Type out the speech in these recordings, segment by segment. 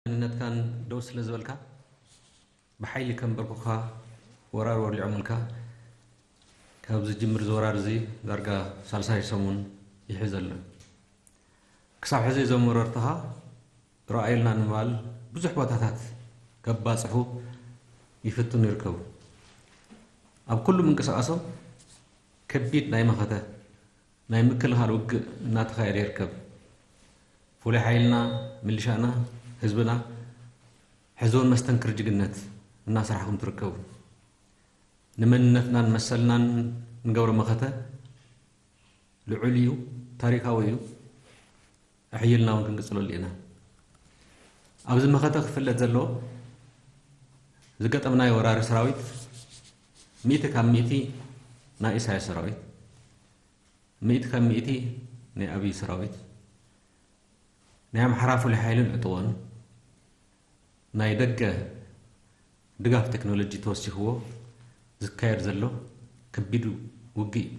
መንነትካን ደው ስለ ዝበልካ፣ ብሓይሊ ከንበርኩኻ፣ ወራር ወሊዖምልካ። ካብ ዝጅምር እዚ ወራር እዚ ዳርጋ ሳልሳይ ሰሙን ይሕዝ ኣሎ። ክሳብ ሕዚ እዞም ወረርትኻ ረኣዩልና ንምባል ብዙሕ ቦታታት ከባጽሑ ይፍትኑ ይርከቡ። ኣብ ኩሉ ምንቅስቓሶም ከቢድ ናይ መኸተ ናይ ምክልኻል ውግእ እናተኻየደ ይርከብ። ፍሉይ ሓይልና፣ ምልሻና፣ ህዝብና ሕዝውን መስተንክር ጅግነት እናሰራሕኩም ትርከቡ። ንመንነትናን መሰልናን ንገብሮ መኸተ ልዑል እዩ፣ ታሪካዊ እዩ። ኣሕይልና እውን ክንቅጽለሉ ኢና። ኣብዚ መኸተ ክፍለጥ ዘለዎ ዝገጠምናዮ ወራሪ ሰራዊት ሚእቲ ካብ ሚእቲ ናይ ኢሳያስ ሰራዊት፣ ሚእቲ ካብ ሚእቲ ናይ ኣብይ ሰራዊት፣ ናይ ኣምሓራ ፍሉይ ሓይልን ዕጥቖን፣ ናይ ደገ ድጋፍ ቴክኖሎጂ ተወሲኽዎ ዝካየድ ዘሎ ከቢድ ውግእ እዩ።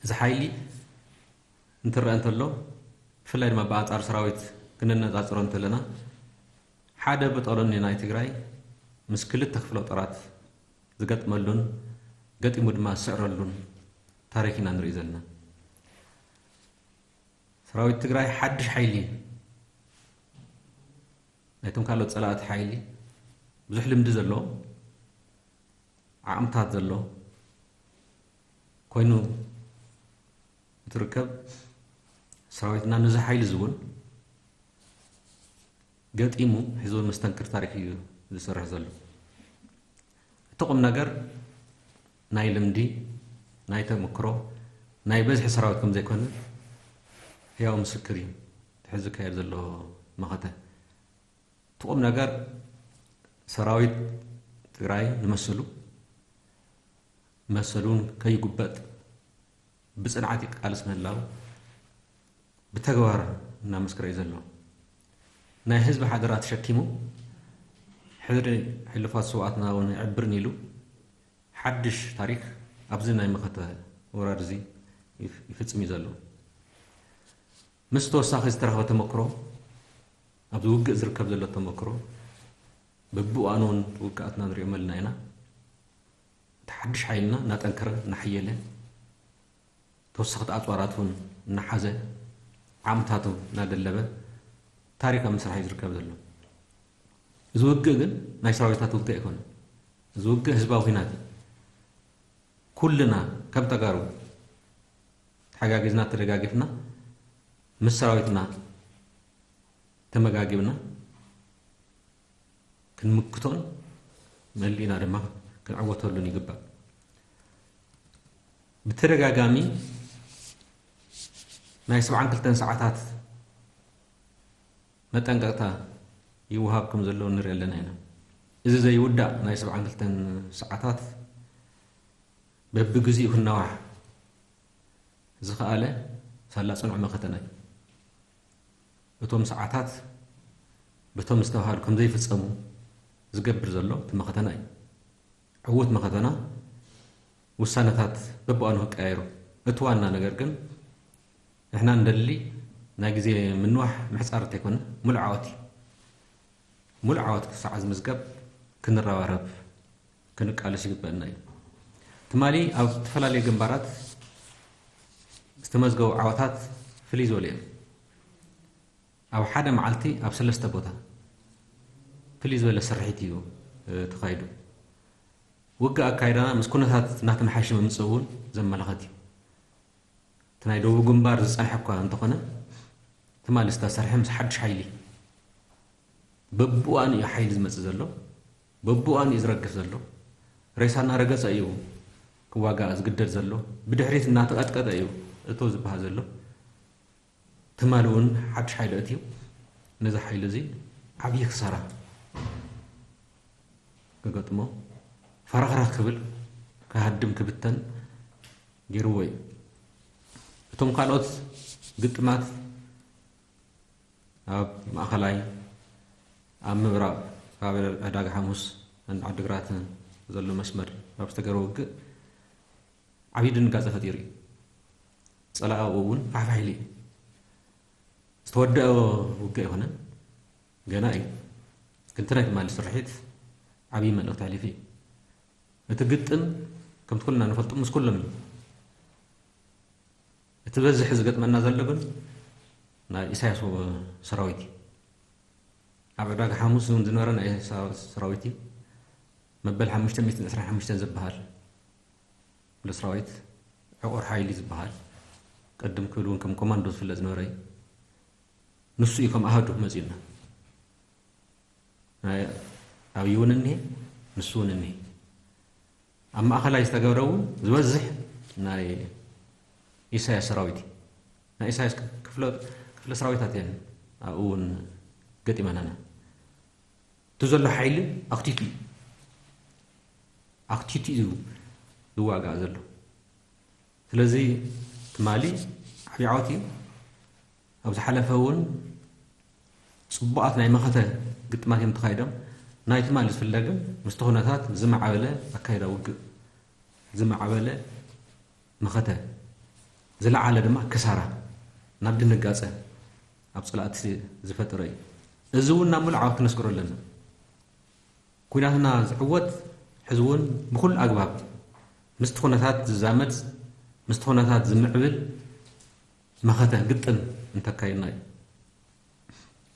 እዚ ሓይሊ እንትረአ እንተሎ፣ ብፍላይ ድማ ብኣንጻር ሰራዊት ክነነጻጽሮ እንተለና፣ ሓደ ብጦለኒ ናይ ትግራይ ምስ ክልተ ክፍለ ጦራት ዝገጥመሉን ገጢሙ ድማ ዝስዕረሉን ታሪክ ኢና ንርኢ ዘለና። ሰራዊት ትግራይ ሓድሽ ሓይሊ፣ ናይቶም ካልኦት ጸላእቲ ሓይሊ ብዙሕ ልምዲ ዘለዎ፣ ዓቕምታት ዘለዎ ኮይኑ እንትርከብ፣ ሰራዊትና ነዚ ሓይሊ እዚ እውን ገጢሙ ሕዚ እውን መስተንክር ታሪክ እዩ ዝሰርሕ ዘሎ። እቲ ቁም ነገር ናይ ልምዲ፣ ናይ ተመክሮ፣ ናይ በዝሒ ሰራዊት ከም ዘይኮነ ህያው ምስክር እዩ። እቲ ሕዚ ዝካየድ ዘሎ መኸተ። እቲ ቁም ነገር ሰራዊት ትግራይ ንመሰሉ፣ መሰሉን ከይጉበጥ ብጽንዓት ይቃለስ ምህላው ብተግባር እናመስከረ እዩ ዘሎ። ናይ ህዝቢ ሓደራ ተሸኪሙ፣ ሕድሪ ሕሉፋት ስውኣትና እውን ኣይዕብርን ኢሉ፣ ሓድሽ ታሪክ ኣብዚ ናይ መኸተ ወራር እዚ ይፍ-፣ ይፍጽም እዩ ዘሎ። ምስ ተወሳኺ ዝተረኽበ ተመክሮ፣ ኣብዚ ውግእ ዝርከብ ዘሎ ተመክሮ፣ በብእዋኑ እውን ውግኣትና ንሪኦም ኣለና ኢና። እቲ ሓድሽ ሓይልና እናጠንከረ፣ እናሓየለ፣ ተወሰኽቲ ኣፅዋራት እውን እናሓዘ፣ ዓቕምታቱ እናደለበ፣ ታሪክ ኣብ ምስራሕ እዩ ዝርከብ ዘሎ። እዚ ውግእ ግን ናይ ሰራዊታት ውግእ ኣይኮነን። እዚ ውግእ ህዝባዊ ኲናት እዩ። ኩልና ከም ተጋሩ ተሓጋጊዝና፣ ተደጋጊፍና፣ ምስ ሰራዊትና ተመጋጊብና ክንምክቶን መሊእና ድማ ክንዕወተሉን ይግባእ። ብተደጋጋሚ ናይ ሰብዓን ክልተን ሰዓታት መጠንቀቕታ ይወሃብ ከም ዘሎ ንርኢ ኣለና ኢና። እዚ ዘይውዳእ ናይ ሰብዓን ክልተን ሰዓታት በብግዚኡ ክናዋሕ ዝኸኣለ ሳላ ጽኑዕ መኸተና እዩ። እቶም ሰዓታት በቶም ዝተባህሉ ከም ዘይፍጸሙ ዝገብር ዘሎ እቲ መኸተና እዩ። ዕዉት መኸተና ውሳነታት በብእዋኑ ክቀያየሩ። እቲ ዋና ነገር ግን ንሕና እንደሊ ናይ ግዜ ምንዋሕ ምሕጻር እንተይኮነ፣ ሙሉእ ዓወት እዩ። ሙሉእ ዓወት ክሳዕ ዝምዝገብ ክንረባረብ፣ ክንቃለስ ይግበአና እዩ። ትማሊ ኣብ ዝተፈላለዩ ግንባራት ዝተመዝገቡ ዓወታት ፍልይ ዝበሉ እዮም። ኣብ ሓደ መዓልቲ ኣብ ሰለስተ ቦታ ፍልይ ዝበለ ስርሒት እዩ፣ እ፣ ተኻይዱ። ውግእ ኣካይዳና ምስ ኩነታት እናተመሓየሸ ምምፅኡ እውን ዘመላኽት እዩ። እቲ ናይ ደቡብ ግንባር ዝፀንሐ እኳ እንተኾነ፣ ትማሊ ዝተሰርሐ ምስ ሓድሽ ሓይሊ፣ በብእዋኑ እዩ ሓይሊ ዝመፅእ ዘሎ፣ በብእዋኑ እዩ ዝረግፍ ዘሎ። ሬሳ እናረገፀ እዩ ክዋጋእ ዝግደድ ዘሎ፣ ብድሕሪት እናተቐጥቀጠ እዩ እቶ ዝበሃል ዘሎ። ትማሊ እውን ሓድሽ ሓይሊ ኣእትዩ፣ ነዚ ሓይሊ እዚ ዓብዪ ክሳራ ክገጥሞ፣ ፈረኽረኽ ክብል፣ ክሃድም፣ ክብተን ገይርዎ እዩ። እቶም ካልኦት ግጥማት ኣብ ማእኸላይ፣ ኣብ ምብራቕ ከባቢ ዕዳጋ ሓሙስ፣ ዓዲግራትን ዘሎ መስመር ኣብ ዝተገበረ ውግእ ዓብዪ ድንጋፀ ፈጢሩ እዩ። ፀላኢ እውን ፋሕፋሕ ኢሉ እዩ። ዝተወደአ ውግእ ኣይኮነን። ገና እዩ። ግን እቲ ናይ ትማሊ ስርሒት ዓብዪ መልእኽቲ ኣሕሊፉ እዩ። እቲ ግጥም ከምቲ ኩልና ንፈልጦ ምስ ኩሎም እዩ። እቲ በዝሒ ዝገጥመና ዘሎ ግን ናይ ኢሳያስ ሰራዊት እዩ። ኣብ ዕዳጋ ሓሙስ እውን ዝነበረ ናይ ኢሳያስ ሰራዊት እዩ። መበል ሓሙሽተ ሚእትን ዕስራን ሓሙሽተን ዝበሃል ፍሉይ ሰራዊት፣ ዕቑር ሓይሊ ዝበሃል፣ ቅድም ክብል እውን ከም ኮማንዶ ዝፍለጥ ዝነበረ እዩ። ንሱ እዩ ከም ኣሃዱ መፂኡና። ናይ ኣብይ እውን እኒሄ፣ ንሱ እውን እኒሄ። ኣብ ማእኸላይ ዝተገብረ እውን ዝበዝሕ ናይ ኢሳያስ ሰራዊት እዩ። ናይ ኢሳያስ ክፍለ ክፍለ ሰራዊታት እየን ኣብኡ እውን ገጢመናና። እቲ ዘሎ ሓይሊ ኣኽቲቱ እዩ። ኣኽቲቱ እዩ ዝዋጋእ ዘሎ። ስለዚ ትማሊ ዓብዪ ዓወት እዩ። ኣብ ዝሓለፈ እውን ጽቡቓት ናይ መኸተ ግጥማት እዮም ተኻይዶም። ናይ ትማሊ ዝፍለ ግን ምስቲ ኩነታት ዝመዓበለ ኣካይዳ ውግእ፣ ዝመዓበለ መኸተ፣ ዝለዓለ ድማ ክሳራ፣ ናብ ድንጋጸ ኣብ ጸላእቲ ዝፈጠረ እዩ። እዚ እውን ናብ ምሉእ ዓወት ክነስግሮ ኣለና። ኩናትና ዝዕወት ሕዚ እውን ብኹሉ ኣግባብ ምስቲ ኩነታት ዝዛመድ፣ ምስቲ ኩነታት ዝምዕብል መኸተ ግጥም እንተካይድና እዩ።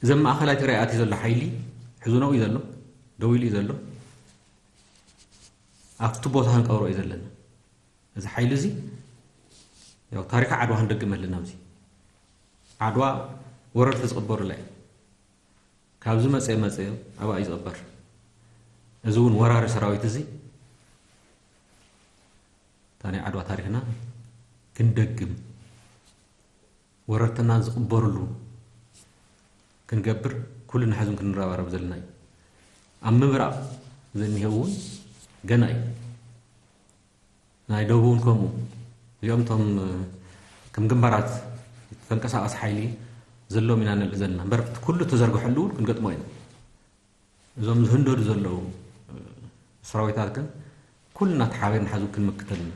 እዚ ኣብ ማእኸላይ ትግራይ ኣትዩ ዘሎ ሓይሊ ሕዚ ነኡ እዩ ዘሎ፣ ደው ኢሉ እዩ ዘሎ። ኣብቲ ቦታ ክንቀብሮ እዩ ዘለና። እዚ ሓይሊ እዚ ያው ታሪኽ ዓድዋ ክንደግም ኣለና። ኣብዚ ዓድዋ ወረርቲ ዝቕበሩላ እዩ። ካብዚ መፀ መፀ ኣብኣ እዩ ዝቕበር። እዚ እውን ወራሪ ሰራዊት እዚ እታ ናይ ዓድዋ ታሪኽና ክንደግም፣ ወረርትና ዝቕበርሉ ክንገብር ኩልና ሕዝም ክንረባረብ ዘለና እዩ። ኣብ ምብራቕ ዘኒሄው እውን ገና እዩ። ናይ ደቡብ እውን ከምኡ። እዚኦም እቶም ከም ግንባራት ተንቀሳቐሲ ሓይሊ ዘለዎም ኢና ንርኢ ዘለና። እምበር ኩሉ ተዘርግሐሉ እውን ክንገጥሞ ኢና። እዞም ዝህንደዱ ዘለዉ ሰራዊታት ግን ኩልና ተሓቢርና ሓዚ ክንምክተልና።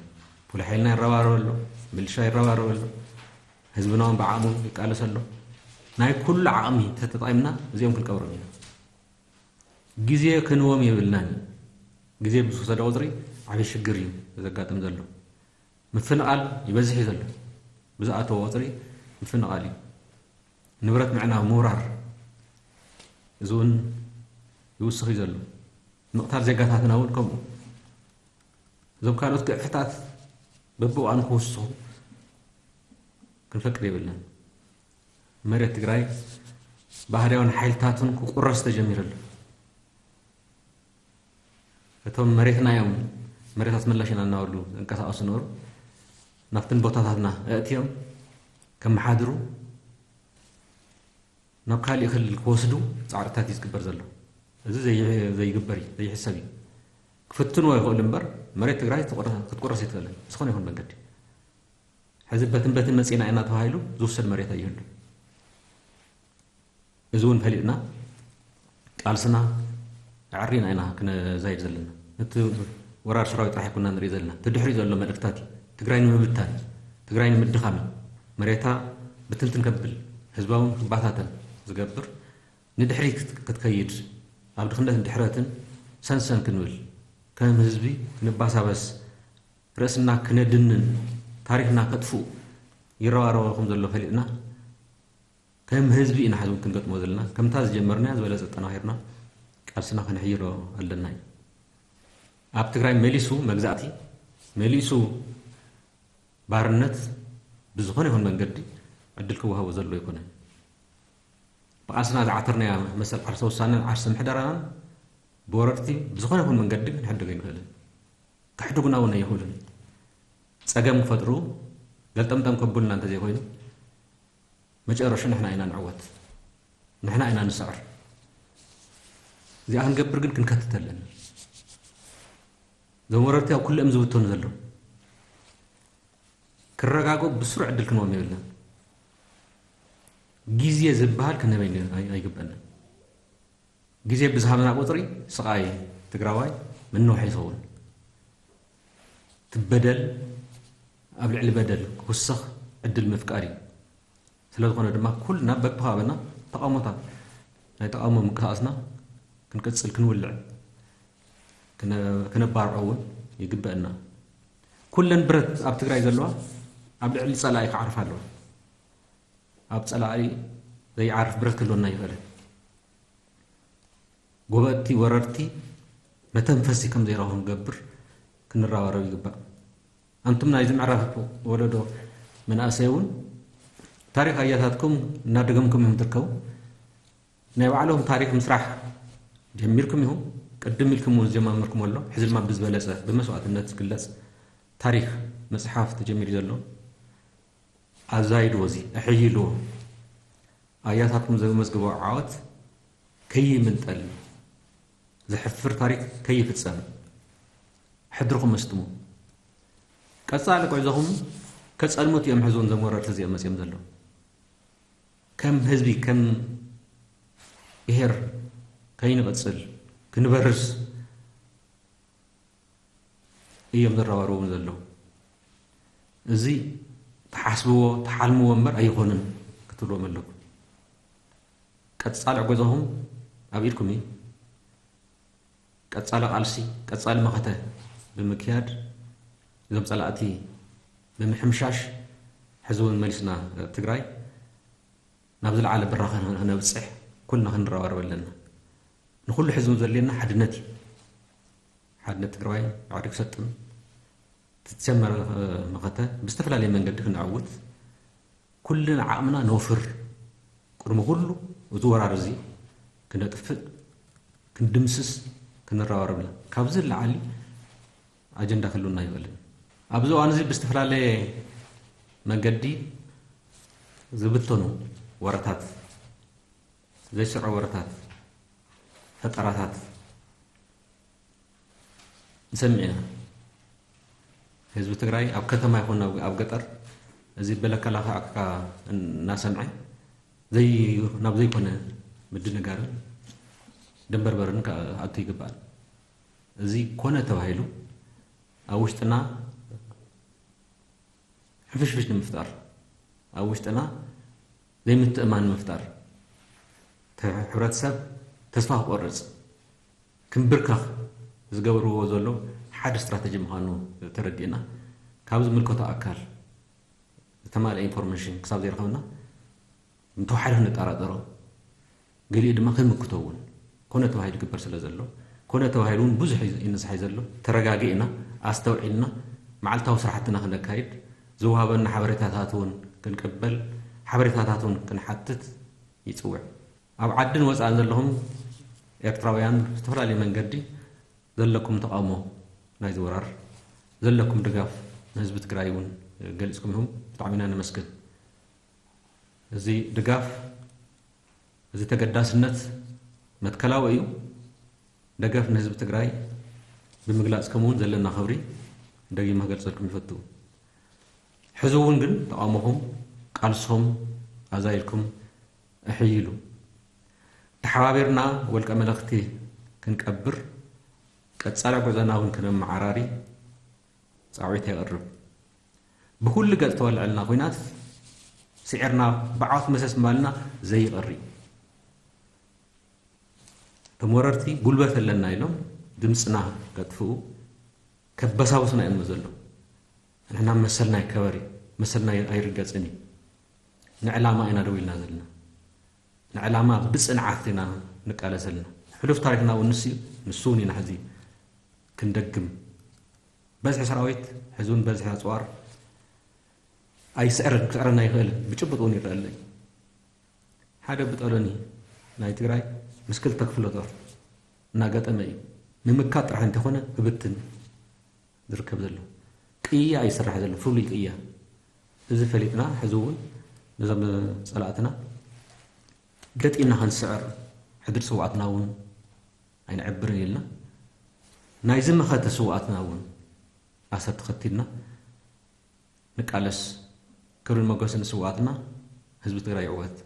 ፍሉይ ሓይልና ይረባረብ ኣሎ፣ ሚሊሻ ይረባረብ ኣሎ፣ ህዝብና እውን ብዓቕሙ ይቃለስ ኣሎ። ናይ ኩሉ ዓቕሚ ተተጠቒምና እዚኦም ክንቀብሮም ኢና። ግዜ ክንዎም የብልናን። ግዜ ብዝወሰደ ቁፅሪ ዓብዪ ሽግር እዩ ዘጋጥም ዘሎ። ምፍንቓል ይበዝሕ እዩ ዘሎ። ብዝኣተወ ቁፅሪ ምፍንቓል እዩ። ንብረት ምዕናው፣ ምውራር፣ እዚ እውን ይውስኽ እዩ ዘሎ። ምቕታል ዜጋታትና እውን ከምኡ። እዞም ካልኦት ግዕፍታት በብእዋኑ ክውስኹ ክንፈቅድ የብልናን። መሬት ትግራይ ባህርያውን ሓይልታቱን ክቁረስ ተጀሚሩ ኣሎ። እቶም መሬትና እዮም፣ መሬት ኣስመላሽ ኢና እናበሉ ዝንቀሳቐሱ ነበሩ። ናብትን ቦታታትና ኣእትዮም ከመሓድሩ፣ ናብ ካሊእ ክልል ክወስዱ ፃዕርታት እዩ ዝግበር ዘሎ። እዚ ዘይ-፣ ዘይግበር እዩ፣ ዘይሕሰብ እዩ። ክፍትንዎ ይኽእሉ እምበር መሬት ትግራይ ትቑረ-፣ ክትቁረስ ኣይትኽእልን ብዝኾነ ይኹን መንገዲ። ሕዚ በትን በትን መፂና ኢና ተባሂሉ ዝውሰድ መሬት ኣይህሉ። እዚ እውን ፈሊጥና ቃልስና ኣዕሪና ኢና ክነዛይድ ዘለና። እቲ ወራር ሰራዊት ጥራሕ ኣይኮና ንርኢ ዘለና። እቲ ድሕሪኡ ዘሎ መልእክታት እዩ። ትግራይ ንምብታን፣ ትግራይ ንምድኻም እዩ። መሬታ ብትንትን ከብል፣ ህዝባውን ክባታተን ዝገብር፣ ንድሕሪት ክት-፣ ክትከይድ፣ ኣብ ድኽነትን ድሕረትን ሰንሰን ክንብል፣ ከም ህዝቢ ክንባሳበስ፣ ርእስና ክነድንን ታሪኽና ከጥፍኡ ይረባረቡ ከም ዘሎ ፈሊጥና፣ ከም ህዝቢ ኢና ሕዚ እውን ክንገጥሞ ዘለና። ከምታ ዝጀመርናያ ዝበለጸ ኣጠናኺርና ቃልስና ከነሕይሎ ኣለና እዩ። ኣብ ትግራይ መሊሱ መግዛእቲ፣ መሊሱ ባርነት ብዝኾነ ይኹን መንገዲ ዕድል ክወሃቦ ዘሎ ኣይኮነን። ብቃልስና ዝዓተርናያ መሰል ዓርሰ ውሳነን ዓርሰ ምሕደራናን ብወረርቲ ብዝኾነ ይኹን መንገዲ ክንሕድግ ኣይንኽእልን። ከሕድጉና እውን ኣይኽእሉን። ጸገም ክፈጥሩ ገልጠምጠም ከብሉና እንተዘይኮይኑ መጨረሹ ንሕና ኢና ንዕወት፣ ንሕና ኢና ንስዕር። እዚኣ ክንገብር ግን ክንከትት ኣለና። እዞም ወረርቲ ኣብ ኩሉ እዮም ዝብተኑ ዘለዉ። ክረጋግኡ ብስሩዕ ዕድል ክንቦም የብልናን። ግዜ ዝበሃል ክንህበ ኣይ-፣ ኣይግበእናን። ግዜ ብዝሃበና ቁፅሪ ስቓይ ትግራዋይ ምንውሕ ይኸውን። እቲ በደል ኣብ ልዕሊ በደል ክውስኽ ዕድል ምፍቃር እዩ። ስለ ዝኾነ ድማ ኩልና በብኸባብና ተቓውሞታት ናይ ተቓውሞ ምንቅስቃስና ክንቅጽል፣ ክንውልዕ፣ ክነ-፣ ክነባርዖ እውን ይግበአና። ኩለን ብረት ኣብ ትግራይ ዘለዋ ኣብ ልዕሊ ጸላኢ ክዓርፋ ኣለዋ። ኣብ ጸላኢ ዘይዓርፍ ብረት ክህልወና ይኽእልን። ጎበጥቲ ወረርቲ መተንፈሲ ከም ዘይረኽቡ ክንገብር ክንረባረብ ይግባእ። ኣንቱም ናይዚ ምዕራፍ ወለዶ መናእሰይ እውን ታሪኽ ኣያታትኩም እናደገምኩም ኢኹም ትርከቡ። ናይ ባዕሎም ታሪኽ ምስራሕ ጀሚርኩም ኢኹም። ቅድም ኢልኩም እውን ዝጀማመርኩም ኣሎ። ሕዚ ድማ ብዝበለጸ ብመስዋእትነት ዝግለጽ ታሪኽ ምጽሓፍ ተጀሚሩ ዘሎ። ኣዛይድዎ፣ እዚ ኣሕይልዎ። ኣያታትኩም ዘመዝግቦ ዓወት ከይምንጠል፣ ዘሕፍር ታሪኽ ከይፍጸም ሕድርኹም ኣስጥሙ። ቀጻሊ ጉዕዞኹም ከጸልሙት እዮም። ሕዞን ዘም ወረርቲ እዚኦም መጺኦም ዘለዉ ከም ህዝቢ፣ ከም ብሄር ከይንቕጽል፣ ክንበርስ እዮም ዝረባረቡ ዘለዉ። እዚ ትሓስብዎ፣ ትሓልምዎ እምበር ኣይኾንን ክትብልዎም ኣለኩም። ቀጻሊ ዕጎዛኹም ኣብ ኢድኩም እዩ። ቀጻሊ ቃልሲ፣ ቀጻሊ መኸተ ብምክያድ፣ እዞም ጸላእቲ ብምሕምሻሽ፣ ሕዚ እውን መሊስና ትግራይ ናብ ዝለዓለ ብራኸ ክነብጽሕ ኩልና ክንረባረብ ኣለና። ንኹሉ ሕዚ እውን ዘድልየና ሓድነት እዩ። ሓድነት ትግራዋይ ባዕሪ ክሰጥም፣ ትጀመረ መኸተ ብዝተፈላለየ መንገዲ ክነዕውት ኩልና ዓቕምና ነውፍር። ቅድሚ ኩሉ እዚ ወራር እዚ ክነጥፍእ፣ ክንድምስስ፣ ክንረባረብ ኣለና። ካብዚ ንላዕሊ ኣጀንዳ ክህልውና ይኽእልን። ኣብዚ እዋን እዚ ብዝተፈላለየ መንገዲ ዝብተኑ ወረታት፣ ዘይስዑ ወረታት፣ ፈጠራታት ንሰምዕ ኢና። ህዝቢ ትግራይ ኣብ ከተማ ይኹን ኣብ፣ ኣብ ገጠር እዚ በለካ ላካ ኣካ እናሰምዐ ዘይ-፣ ናብ ዘይኮነ ምድንጋርን ደንበርበርን ክኣቱ ይግባል። እዚ ኮነ ተባሂሉ ኣብ ውሽጥና ሕፍሽፍሽ ንምፍጣር፣ ኣብ ውሽጥና ዘይምትእማን ንምፍጣር፣ ተ-፣ ሕብረተሰብ ተስፋ ክቆርጽ፣ ክምብርከኽ ዝገብርዎ ዘሎ ሓደ ስትራተጂ ምዃኑ ተረዲእና፣ ካብ ዝምልከቶ ኣካል ዝተማልአ ኢንፎርሜሽን ክሳብ ዘይረኸብና፣ እንተወሓደ ክንጠራጠሮ፣ ገሊኡ ድማ ክንምክቶ እውን ኮነ ተባሂሉ ይግበር ስለ ዘሎ፣ ኮነ ተባሂሉ እውን ብዙሕ እዩ ይንስሓይ ዘሎ። ተረጋጊእና፣ ኣስተውዒልና፣ መዓልታዊ ስራሕትና ክነካይድ፣ ዝወሃበና ሓበሬታታት እውን ክንቅበል፣ ሓበሬታታት እውን ክንሓትት ይጽውዕ። ኣብ ዓድን ወጻእን ዘለኹም ኤርትራውያን ብዝተፈላለየ መንገዲ ዘለኩም ተቓውሞ ናይዚ ወራር፣ ዘለኩም ድጋፍ ንህዝቢ ትግራይ እውን ገሊጽኩም ኢኹም። ብጣዕሚ ኢና ነመስግን። እዚ ድጋፍ፣ እዚ ተገዳስነት መትከላዊ እዩ። ደገፍ ንህዝቢ ትግራይ ብምግላጽኩም እውን ዘለና ክብሪ ደጊመ ክገልጸልኩም ይፈቱ። ሕዚ እውን ግን ተቓውሞኹም፣ ቃልሶም ኣዛይድኩም ኣሕይሉ። ተሓባቢርና ወልቀ መለኽቲ ክንቀብር፣ ቀጻሊ ጉዕዞና እውን ክነመዓራሪ ጻውዒት የቕርብ። ብኹሉ ገጽ ተወልዐልና ኹናት ስዒርና ብዓወት መሰስ ምባልና ዘይቐሪ። እቶም ወረርቲ ጉልበት ኣለና ኢሎም ድምፅና ከጥፍኡ ከበሳብሱና እዮም ዘለዉ። ንሕና መሰልና ይከበር እዩ፣ መሰልና ኣይርገፅን እዩ። ንዕላማ ኢና ደው ኢልና ዘለና። ንዕላማ ብፅንዓት ኢና ንቃለስ ዘለና። ሕሉፍ ታሪክና እውን ንሱ እዩ፣ ንሱ እውን ኢና ሕዚ ክንደግም። በዝሒ ሰራዊት፣ ሕዚ እውን በዝሒ ኣፅዋር ኣይስዕርን፣ ክስዕረና ኣይኽእልን። ብጭቡጥ እውን ይረኣለይ። ሓደ ብጠሎኒ ናይ ትግራይ ምስ ክልተ ክፍለ ጦር እናገጠመ እዩ። ምምካት ጥራሕ እንተኾነ ክብትን ዝርከብ ዘሎ። ቅያ ይስራሕ ዘሎ፣ ፍሉይ ቅያ። እዚ ፈሊጥና፣ ሕዚ እውን ነዞም ጸላእትና ገጢምና ክንስዕር፣ ሕድሪ ስውኣትና እውን ኣይንዕብርን ኢልና፣ ናይዚ መኸተ ስውኣትና እውን ኣሰር ተኸቲልና ንቃለስ። ክብርን መጎስን ንስውኣትና። ህዝቢ ትግራይ ይዕወት።